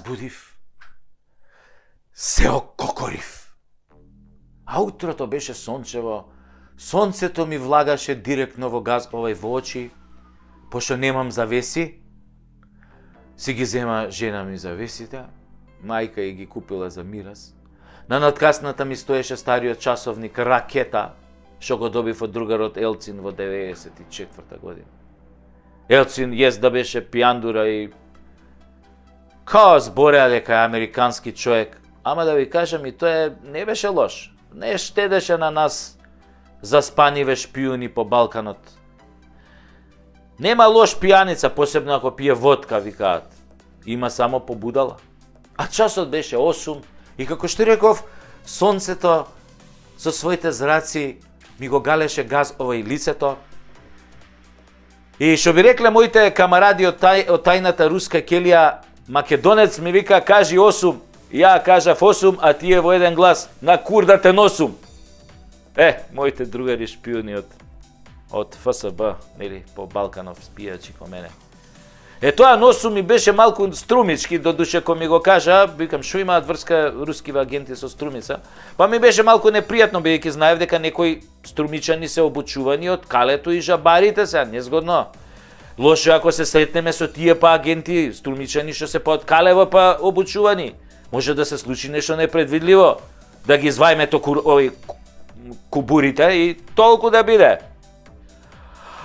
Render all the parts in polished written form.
разбудив, се ококорив. А утрото беше сончево, сонцето ми влагаше директно во очи, пошто немам завеси, си ги зема жена ми завесите, мајка ја ги купила за мирас. На надкасната ми стоеше стариот часовник Ракета, што го добив од другарот Елцин во 94 година. Елцин да беше пијандура и као збореа дека е американски човек, ама да ви кажам и тоа не беше лош. Не штедеше на нас заспаниве шпиуни по Балканот. Нема лош пијаница, посебно ако пие водка, викаат. Има само побудала. А часот беше 8 и како што реков, сонцето со своите зраци ми го галеше газ овој лицето. И што би рекле моите камаради од тајната руска келија, македонец ми вика кажи 8, ја кажав 8, а тие во еден глас на кур да те носум. Моите другари шпиуни од ФСБ, нели, по Балканов спијачи ко мене. Тоа носум ми беше малку струмички, додуше кој ми го кажа, викам шо имаат врска рускиве агенти со струмица, па ми беше малку непријатно, бидејќи знаев дека некои струмичани се обучувани од калето и жабарите се, незгодно. Лошо ако се сретнеме со тие па агенти, струмичани што се па од калево па обучувани. Може да се случи нешто непредвидливо, да ги звајме овој кубурите и толку да биде.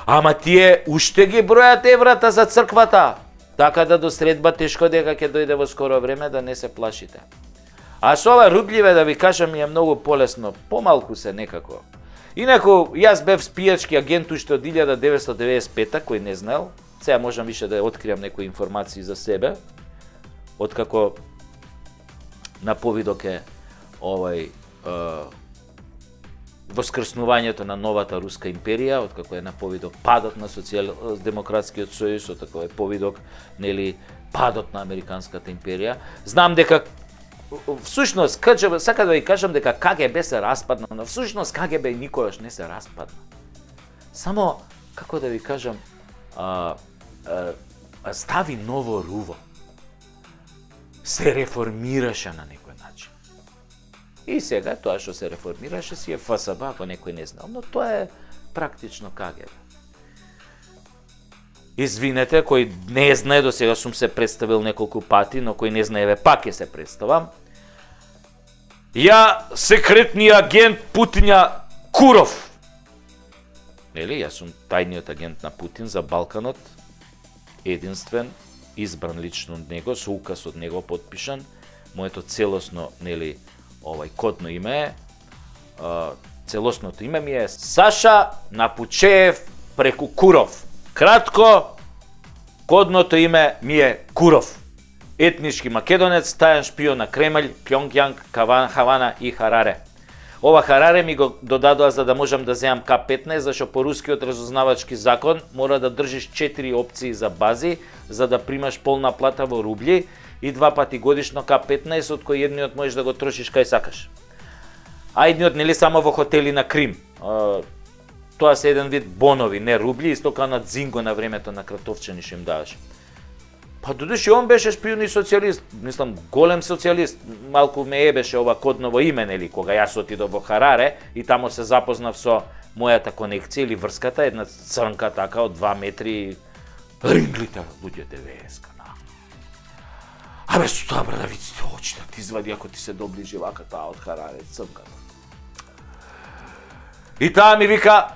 Ама тие уште ги бројат еврата за црквата, така да до средба тешко дека ќе дојде во скоро време, да не се плашите. А со ова рубљиве да ви кажам ми е многу полесно, помалку се некако. Инаку, јас бев спијачки агент уште од 1995-та, кој не знаел, сега можам више да откријам некои информации за себе, откако на повидок е воскреснувањето на новата руска империја, откако е на повидок падот на социјал-демократскиот сојуз, откако е повидок, нели, падот на американската империја. Знам дека всушност, сака да ви кажам дека КГБ се распадна, но всушност КГБ никогаш не се распадна. Само, како да ви кажам, стави ново руво. Се реформираше на некој начин. И сега тоа што се реформираше си е ФСБ, ако некој не знал, но тоа е практично КГБ. Извинете, кој не знае, до сега сум се представил неколку пати, но кој не знае, пак ќе се представам. Ја, секретниот агент Путиња Куров. Нели, јас сум тајниот агент на Путин за Балканот, единствен, избран лично од него, со указ од него подпишан. Моето целосно, нели, кодно име е, целосното име ми е Саша Напучеев преку Куров. Кратко, кодното име ми е Куров. Етнички македонец, тајан шпион на Кремљ, Пјонгјанг, Хавана и Хараре. Ова Хараре ми го додадоа за да можам да земам К-15, зашто по рускиот разузнавачки закон мора да држиш 4 опции за бази, за да примаш полна плата во рубли и 2 пати годишно К-15, од кој едниот можеш да го трошиш кај сакаш. А едниот нели само во хотели на Крим. Тоа се еден вид бонови, не рубли, исто као на Дзинго на времето на Кратовчани што им даваш. Па додуши он беше шпион и социјалист, мислам голем социјалист, малку ме ебеше ова кодново име, нели, кога јас отидов во Хараре и тамо се запознав со мојата конекција или врската, една црнка така од 2 метри, ринглите луѓе 90. Абе, со тоа брадавиците очите ти извади ако ти се доближи вака таа од Хараре, црнката. И таа ми вика,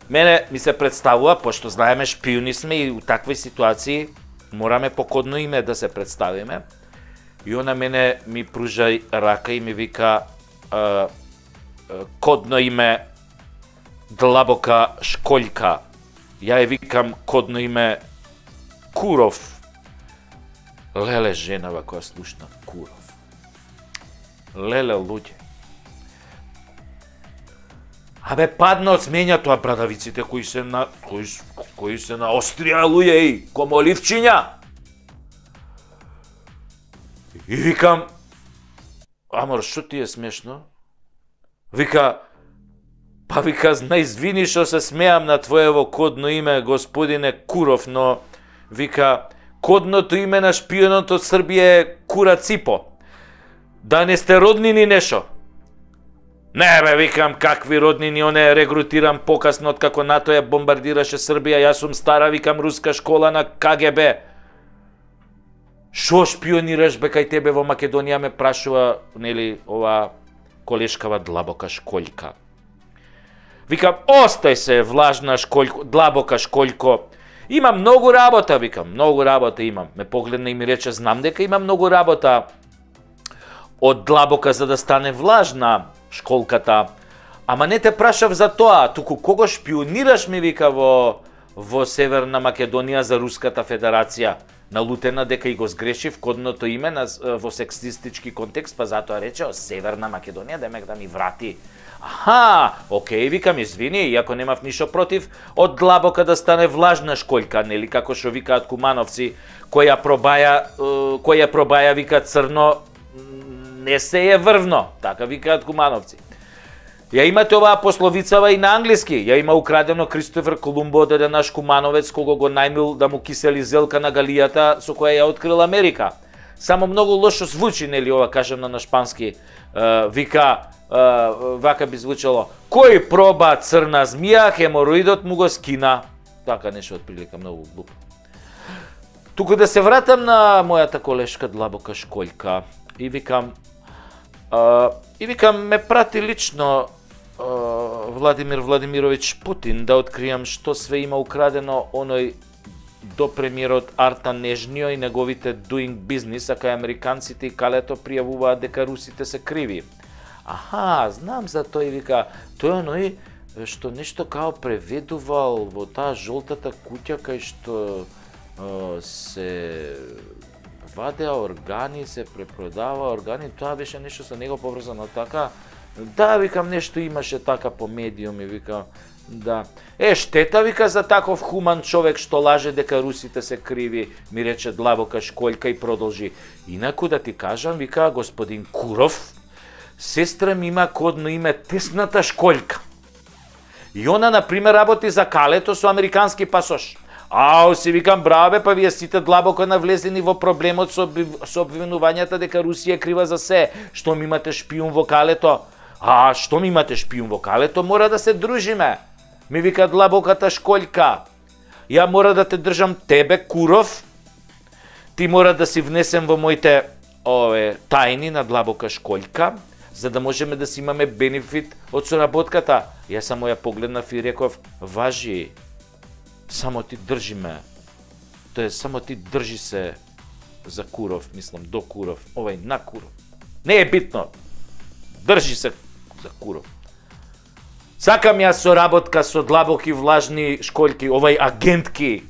мене ми се представува, пошто знаеме шпиони сме и у такви ситуации мораме по кодно име да се представиме. И она мене ми пружа рака и ми вика кодно име Длабока Шкољка. Ја ја викам кодно име Куров. Леле женава која слушна Куров. Леле луѓе. Абе падна од сменја тоа брадавиците кои се на Острија луѓе и комоливчиња. И викам, амор, шо ти е смешно? Вика, па вика, извини што се смеам на твоево кодно име, господине Куров, но вика, кодното име на шпионот од Србија е кура ципо. Да не сте роднини нешо. Не бе, викам, какви роднини, оне регрутирам покасно од како НАТО ја бомбардираше Србија, јас сум стара, викам, руска школа на КГБ. Шо шпионираш бе кај тебе во Македонија, ме прашува, нели, ова колешкава длабока шкољка. Викам, остај се, влажна шкољко, длабока шкољко. Има многу работа, викам, многу работа имам. Ме погледна и ми рече, знам дека има многу работа од длабока за да стане влажна школката. Ама не те прашав за тоа, туку кого шпионираш, ми вика, во Северна Македонија за Руската Федерација. Налутена дека и го сгрешив кодното име во сексистички контекст, па затоа рече Северна Македонија, демек да ми врати. Аха, окей, викам, извини, иако немав ништо против од длабока да стане влажна шкољка, нели, како што викаат кумановци, која пробаја, вика, црно, не се е врвно, така викаат кумановци. Ја имате оваа пословицава и на англиски. Ја има украдено Кристофер Колумбо од еден наш кумановец кога го најмил да му кисели зелка на галијата со која ја открил Америка. Само многу лошо звучи, нели, ова кажано на шпански. Вика, вака би звучало: кој проба црна змија, хемороидот му го скина. Така нешто од прилика, многу глупо. Туку да се вратам на мојата колешка длабока шкољка и викам, ме прати лично Владимир Владимирович Путин да откријам што све има украдено оној до премиерот Артан Нежнио и неговите doing business, а кај американците и калето пријавуваат дека русите се криви. Аха, знам за тој, вика, тој оној што нешто као преведувал во таа жолтата куќа кај што се вадеа органи, се препродава органи, тоа беше нешто со него поврзано така. Да, викам, нешто имаше така по медиуми, викам, да. Штета, вика, за таков хуман човек што лаже дека русите се криви, ми рече длабока шкољка и продолжи. Инаку да ти кажам, вика, господин Куров, сестра ми има кодно име Тесната шкољка. И она, например, работи за калето со американски пасош. Ау, си викам, браво бе, па вие сите длабоко навлезени во проблемот со обвинувањата дека Русија крива за се. Што ми имате шпион во калето? Што ми имате шпион во калето? Мора да се дружиме. Ми вика длабоката шкољка. Ја мора да те држам тебе, Куров. Ти мора да си внесем во моите тајни на длабока шкољка, за да можеме да си имаме бенефит од соработката. Јас само ја погледнав и реков, важи, само ти држи ме. Тоа е, само ти држи се за Куров, мислам, до Куров, на Куров. Не е битно. Држи се за Куров. Сакам јас соработка со длабоки влажни шкољки, агентки.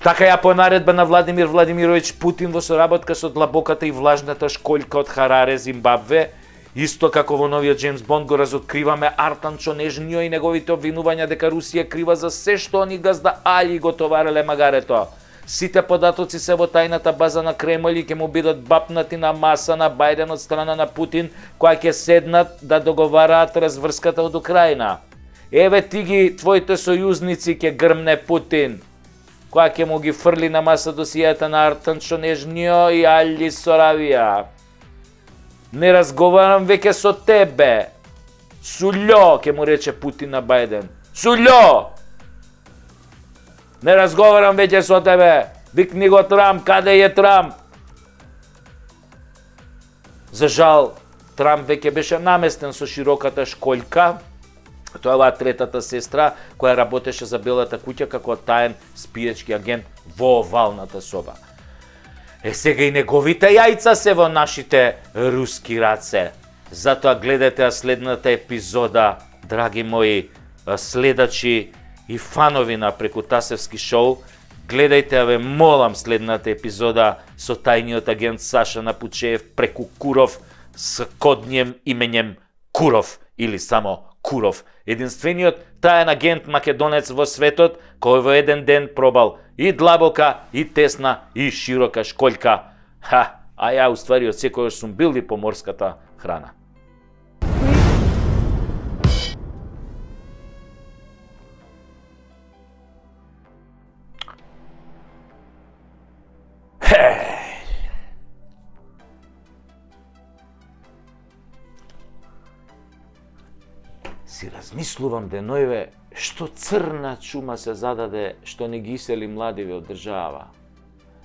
Така ја по наредба на Владимир Владимирович Путин во соработка со длабоката и влажната шкољка од Хараре, Зимбабве, исто како во новиот Джеймс Бонд го разоткриваме Артанчо Нежнио и неговите обвинувања дека Русија крива за се што они газда Али го товареле магарето. Сите податоци се во тајната база на Кремљ и ќе му бидат бапнати на маса на Бајден од страна на Путин, која ќе седнат да договараат разврската од Украина. Еве ти ги твоите сојузници ќе грмне Путин, која ќе му ги фрли на маса досијата на Артанчо Нежнио и Али Соравија. Не разговарам веќе со тебе. Сулјо, ќе му рече Путин на Бајден. Сулјо! Не разговарам веќе со тебе. Викни го Трамп, каде е Трамп? За жал, Трамп веќе беше наместен со широката шкољка. Тоа е оваа третата сестра која работеше за Белата куќа како таен спиечки агент во овалната соба. Сега и неговите јајца се во нашите руски раце. Затоа гледате следната епизода, драги мои следачи и фанови на Прекутасевски шоу. Гледајте, ве молам, следната епизода со тајниот агент Саша Напучеев преку Куров с коднием именем Куров или само Куров. Единствениот таен агент македонец во светот кој во еден ден пробал и длабока, и тесна, и широка шкољка. А ја уствари од секојаш сум бил и по морската храна. Замислувам денојве што црна чума се зададе што не ги исели младиве од држава.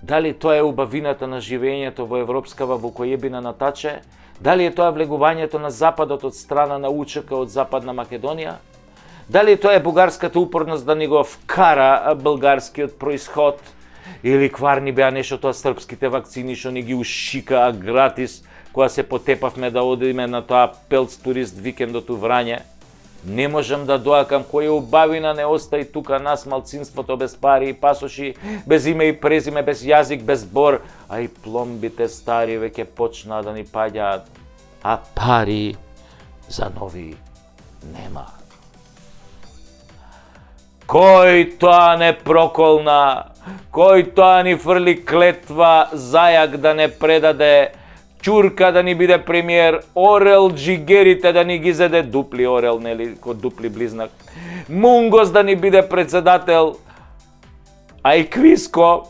Дали тоа е убавината на живењето во европскава вукојебина на таче? Дали е тоа влегувањето на Западот од страна на УЧК од Западна Македонија? Дали тоа е бугарската упорност да ни го вкара българскиот происход? Или кварни беа нешто тоа српските вакцини што ни ги ушикаа гратис кога се потепавме да одиме на тоа пелц турист викендот у Врање? Не можам да доакам која убавина не остаи тука нас малцинството без пари и пасоши, без име и презиме, без јазик, без бор, а и пломбите стари веќе почнаа да ни паѓаат, а пари за нови нема. Кој тоа не проколна, кој тоа ни фрли клетва зајак да не предаде, Чурка да ни биде премиер, Орел джигерите да ни ги зеде, дупли Орел, нели, код дупли близнак, Мунгос да ни биде председател, а и Квиско,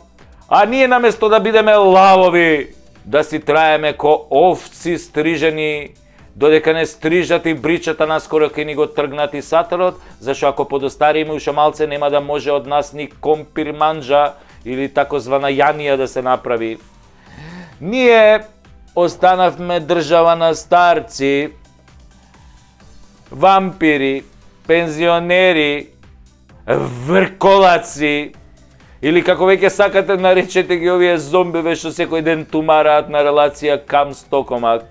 а ние наместо да бидеме лавови, да си траеме ко овци стрижени, додека не стрижат и бричата наскоро ке ни го тргнат и сатарот, зашто ако подостариме уште малце нема да може од нас ни компир манджа или такозвана јанија да се направи. Ние останавме држава на старци, вампири, пензионери, врколаци, или како веќе сакате наречете ги овие зомбиве што секој ден тумараат на релација Кам-Стокомак.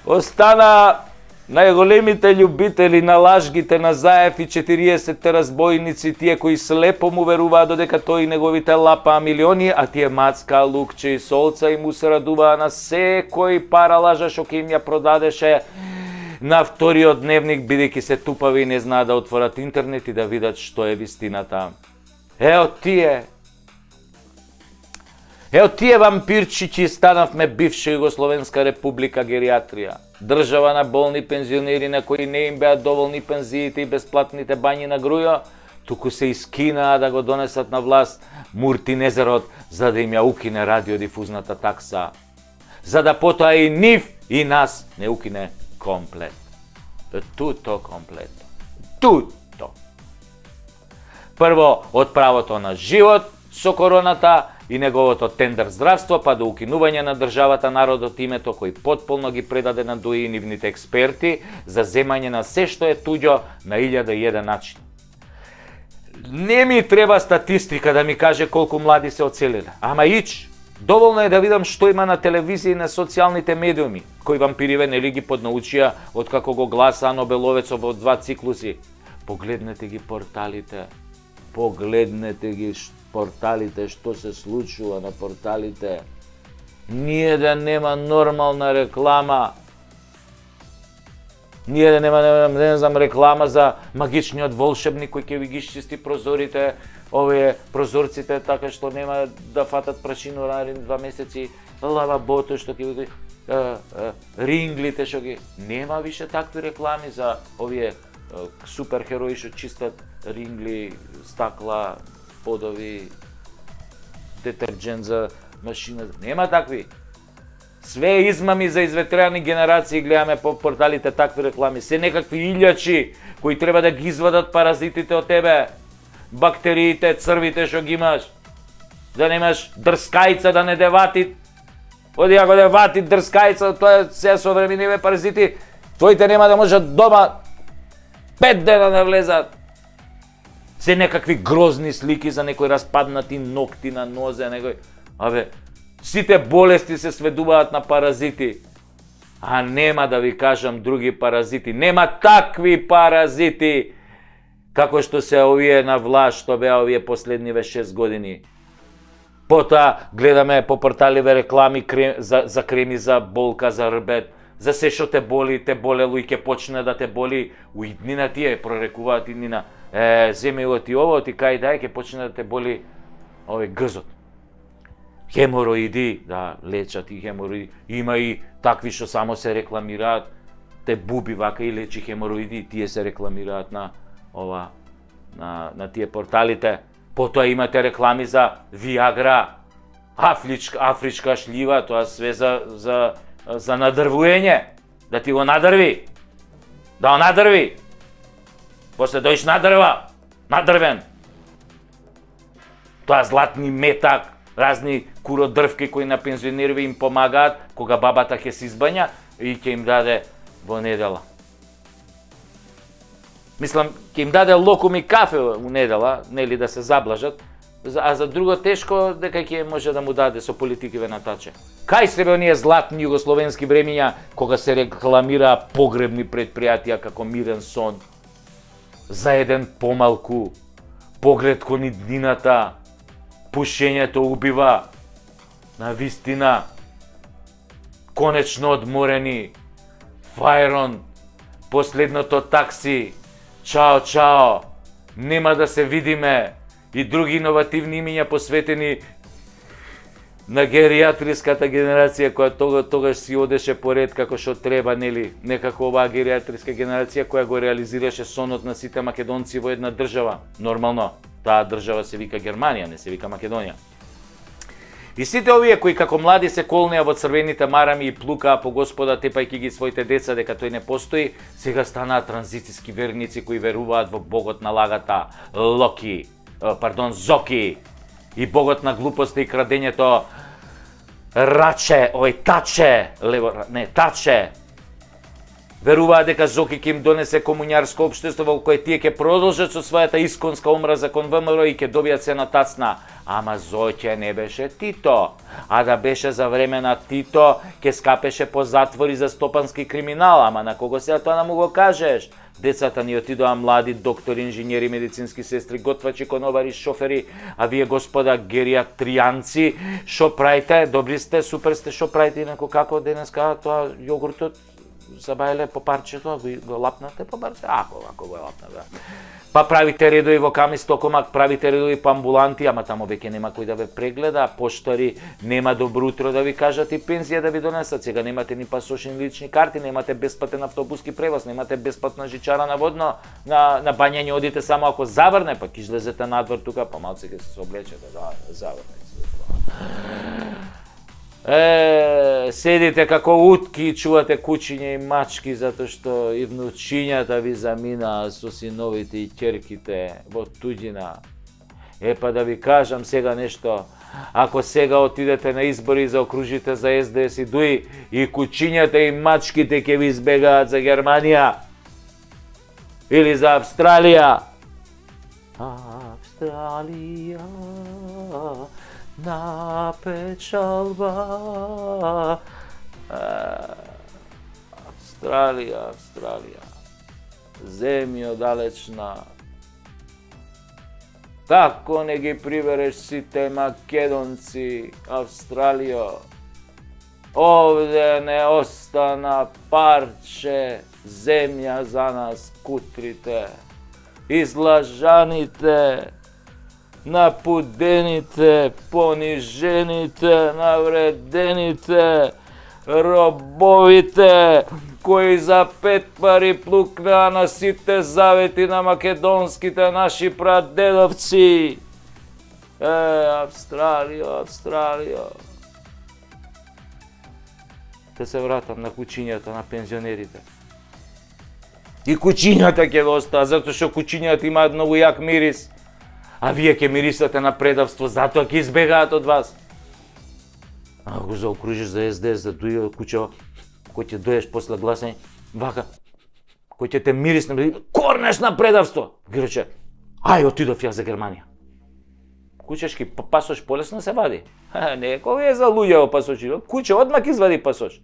Остана најголемите љубители на лажгите на Заев и 40 разбойници, тие кои слепо му веруваат додека тој и неговите лапаа милиони, а тие мацка, лукче и солца и му се радуваа на секој пара лажа што ќе им ја продадеше на вториот дневник, бидејќи се тупави и не знаат да отворат интернет и да видат што е вистината. Ео тие вампирчиќи станавме бивша Југословенска република гериатрија. Држава на болни пензионери на кои не им беа доволни пензиите и бесплатните бањи на грујо, туку се искинаа да го донесат на власт Муртинезерот за да им ја укине радиодифузната такса. За да потоа и нив и нас не укине комплет. Туто комплет. Туто. Прво, од правото на живот со короната и неговото тендер здравство, па до укинување на државата народот името кој потполно ги предаде на ДОИ и нивните експерти за земање на се што е туѓо на 1001 начин. Не ми треба статистика да ми каже колку млади се оцелиле, ама доволно е да видам што има на телевизија и на социјалните медиуми, кои вампириве нели ги поднаучија од како го гласаа Нобеловецов во 2 циклуси. Погледнете ги порталите, порталите, што се случува на порталите. Ние да нема нормална реклама. Ние да нема, не знам, реклама за магичниот волшебник кој ќе ви ги чисти прозорите, овие прозорците, така што нема да фатат прашино наредни 2 месеци, лавабото што ќе ви ринглите што ги... Нема више такви реклами за овие суперхерои што чистат рингли, стакла, подови, детерџент за машина. Нема такви. Све измами за изветрени генерации гледаме по порталите такви реклами. Се некакви илјачи кои треба да ги извадат паразитите од тебе. Бактериите, црвите што ги имаш. Да немаш дрскајца да не девати. Оди ако девати дрскајца, тоа е се современиве паразити. Твоите нема да можат дома 5 дена да влезат. Се некакви грозни слики за некои распаднати ногти на нозе, некој... Сите болести се сведуваат на паразити. А нема да ви кажам други паразити. Нема такви паразити како што се овие на власт, што беа овие последниве 6 години. Потоа гледаме по порталиве реклами за креми за болка, за рбет, за се што те болело и ќе почне да те боли. У иднина тие прорекуваат иднина. Земи го ти ово, ти кај дај, ќе почне да те боли овој грзот. Хемороиди, да, лечат и хемороиди. Има и такви што само се рекламираат, те буби вака и лечи хемороиди, тие се рекламираат на тие порталите. Потоа имате реклами за Виагра, афричка шлива, тоа све за надрвуење, да ти го надрви. Да надрви. После дојш надрвен. Тоа златни метак, разни куродрвки кои на пензионерови им помагаат кога бабата ќе се избања и ќе им даде во недела. Мислам, ќе им даде локум и кафе у недела, нели да се заблажат, а за друго тешко дека ќе може да му даде со политикиве натаче. Кај се бе оние златни југословенски времиња кога се рекламира погребни предпријатија како Мирен сон, за еден помалку, поглед кон иднината, пушењето убива, на вистина, конечно одморени, Фајрон, последното такси, чао, нема да се видиме, и други иновативни имиња посветени на гериатриската генерација која тогаш си одеше поред како што треба, нели, некако оваа гериатриска генерација која го реализираше сонот на сите македонци во една држава. Нормално, таа држава се вика Германија, не се вика Македонија. И сите овие кои како млади се колнеа во црвените марами и плукаа по Господа тепајќи ги своите деца дека тој не постои, сега станаа транзицијски верници кои веруваат во богот на лагата, Зоки, и богот на глупоста и крадењето Таче. Веруваат дека Зоки ќе им донесе комуњарско општество во кое тие ќе продолжат со својата исконска омраза кон ВМРО и ќе добијат се на тацна. Ама Зоќе не беше Тито, а да беше за време на Тито, ќе скапеше по затвори за стопански криминал, ама на кого сега тоа да му го кажеш? Децата ни отидоа млади доктори, инженери, медицински сестри, готвачи, конобари, шофери, а вие господа гериатријанци, шо правите? Добри сте, супер сте, шо правите инако како денеска тоа јогуртот забајле по парчето, го лапнате по парчето? Ако го лапнате. Па правите редови во Камис Токомак, правите редови по амбуланти, ама тамо веќе нема кој да ве прегледа, поштари нема добро утро да ви кажат и пензија да ви донесат. Сега немате ни пасош ни лични карти, немате бесплатен автобуски превоз, немате бесплатна жичара на водно, на бањање одите само ако заврне, па ќе излезете надвор тука, па малце ќе се облечете, заврне. Седите како утки и чувате кучиња и мачки затоа што и внучињата ви заминаа со синовите и ќерките во туѓина. Па да ви кажам сега нешто, ако сега отидете на избори за окружите за СДС и ДУИ, и кучињата и мачките ќе ви избегаат за Германија или за Австралија. Австралија на печалба. Австралија, земјо далечна. Како не ги прибереш сите македонци, Австралијо? Овде не остана парче земја за нас кутрите, излажаните, напудените, понижените, навредените, робовите, кои за 5 пари плукнаа на сите завети на македонските наши прадедовци. Австралијо. Те се вратам на кучињата на пензионерите. И кучињата ќе го остаа, затоа што кучињата имаат многу јак мирис. А вие ќе мирисате на предавство, затоа ќе избегаат од вас. Ако заокружиш за СДС, за ДУИ, кучево, кој ќе доеш после гласање, вака, кој ќе те мирисне, корнеш на предавство. Ги рече, ај, отидов ја за Германија. Кучешки пасош полесно се вади. Не, кој е за луѓе пасоши, куче одмак извади пасош.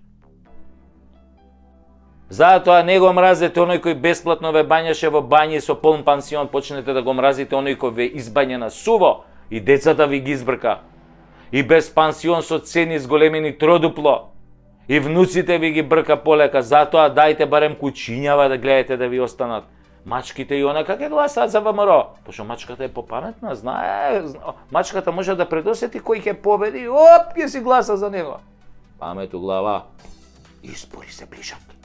Затоа не го мразете оној кој бесплатно ве бањаше во бањи со полн пансион, почнете да го мразите оној кој ве избања на суво и децата ви ги избрка. И без пансион со цени зголемени тродупло. И внуците ви ги брка полека, затоа дајте барем кучињава да гледате да ви останат. Мачките и онака ќе гласаат за ВМРО. Пошто мачката е попаметна, знае, мачката може да предосети кој ќе победи, ќе си гласа за него. Памет у глава, избори се ближат.